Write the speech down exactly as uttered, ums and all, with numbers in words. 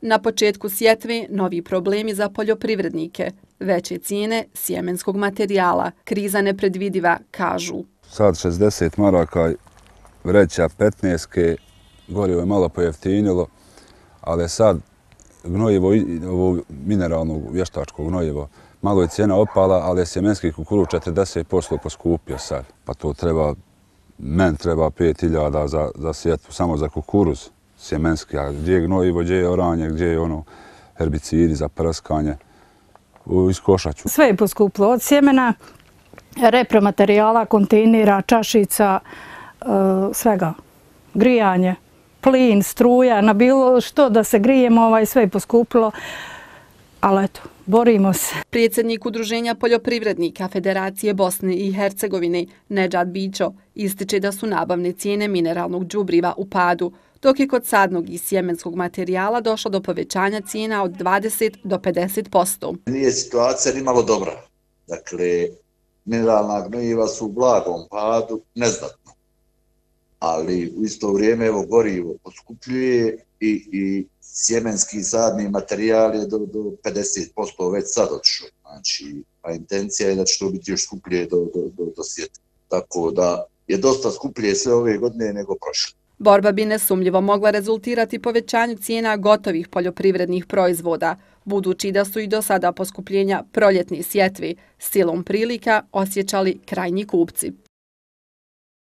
Na početku sjetve novi problemi za poljoprivrednike, veće cijene sjemenskog materijala, kriza nepredvidiva, kažu. Sad šezdeset maraka, vreća petnaest, gorivo je malo pojeftinilo, ali sad gnojivo, ovo mineralno vještačko gnojivo, malo je cijena opala, ali je sjemenski kukuruz četrdeset posto poskupio sad. Pa to treba, men treba pet hiljada za, za sjetvu, samo za kukuruz sjemenski, a gdje je gnojivo, gdje je oranje, gdje je ono herbicidi za prskanje, iskošaću. Sve je poskupilo, od sjemena, repromaterijala, kontejnera, čašica, svega, grijanje, plin, struja, na bilo što da se grijemo, ovaj, sve je poskupilo, ali eto, borimo se. Predsjednik Udruženja poljoprivrednika Federacije Bosne i Hercegovine, Nedžad Bićo, ističe da su nabavne cijene mineralnog đubriva u padu, dok je kod sadnog i sjemenskog materijala došlo do povećanja cijena od dvadeset do pedeset posto. Nije situacija ni malo dobra. Dakle, mineralna gnojiva su u blagom padu, neznatno. Ali u isto vrijeme evo gorivo poskupljuje i, i sjemenski sadni materijal je do, do pedeset posto već sad odšao. Znači, a intencija je da će to biti još skuplje do, do, do, do svijeta. Tako da je dosta skuplje sve ove godine nego prošle. Borba bi nesumnjivo mogla rezultirati povećanju cijena gotovih poljoprivrednih proizvoda, budući da su i do sada poskupljenja proljetne sjetve silom prilika osjećali krajnji kupci.